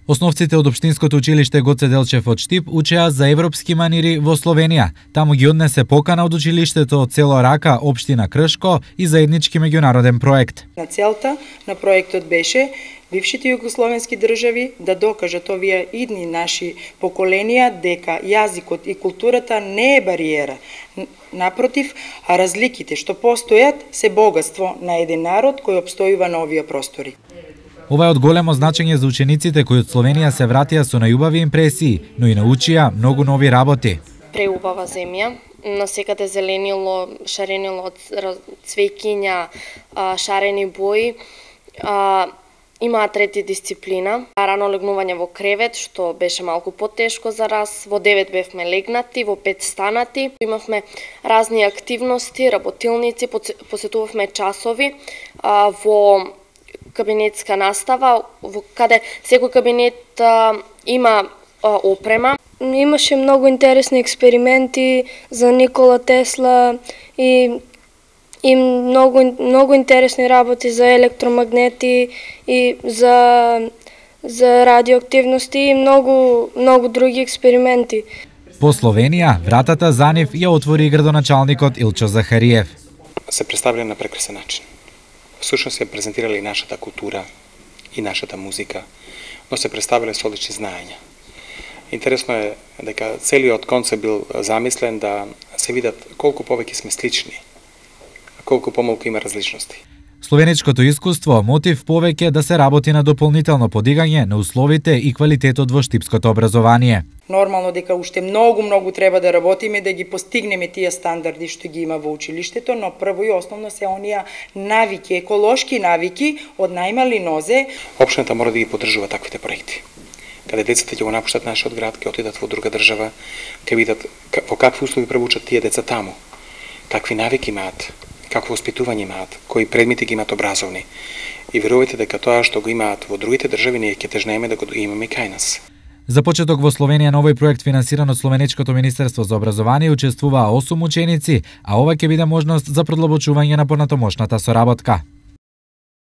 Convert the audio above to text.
Основците од Општинското училиште Гоце Делчев од Штип учеа за европски манири во Словенија. Таму ги однесе покана од училиштето од село Рака, општина Кршко и заеднички меѓународен проект. На целта на проектот беше бившите југословенски држави да докажат овие идни наши поколенија дека јазикот и културата не е бариера. Напротив, а разликите што постојат се богатство на еден народ кој опстојува на овие простори. Ова е од големо значење за учениците кои од Словенија се вратија со најубави импресии, но и научија многу нови работи. Преубава земја, насекаде зеленило, шаренило од цвеќиња, шарени бои. Имаа трети дисциплина, рано легнување во кревет, што беше малку потешко за нас. Во 9 бевме легнати, во 5 станати. Имавме разни активности, работилници, посетувавме часови во кабинетска настава, каде секој кабинет има опрема. Имаше многу интересни експерименти за Никола Тесла и многу интересни работи за електромагнети и за радиоактивности и многу други експерименти. По Словенија, вратата за нив ја отвори градоначалникот Илчо Захариев. Се представиле на прекрасен начин. Всушност се презентирали и нашата култура и нашата музика, но се представиле со одлични знаења. Интересно е дека целиот концепт бил замислен да се видат колку повеќе сме слични, а колку помалку има различности. Словеничкото искуство мотив повеќе да се работи на дополнително подигање на условите и квалитетот во штипското образование. Нормално дека уште многу треба да работиме да ги постигнеме тие стандарди што ги има во училиштето, но прво и основно се оние навики, еколошки навики од најмали нозе. Општината мора да ги поддржува таквите проекти. Каде децата ќе го напуштат нашиот град, ќе отидат во друга држава, ќе видат во какви услови пробучат тие деца таму, какви навики имаат, какво воспитување имаат, кои предмети ги имаат образовни. И верувајте дека тоа што го имаат во другите држави ние ќе тежнееме да го имаме кај нас. За почеток во Словенија на овој проект финансиран од Словеничкото министерство за образование учествуваа 8 ученици, а ова ќе биде можност за продлабочување на понатомошната соработка.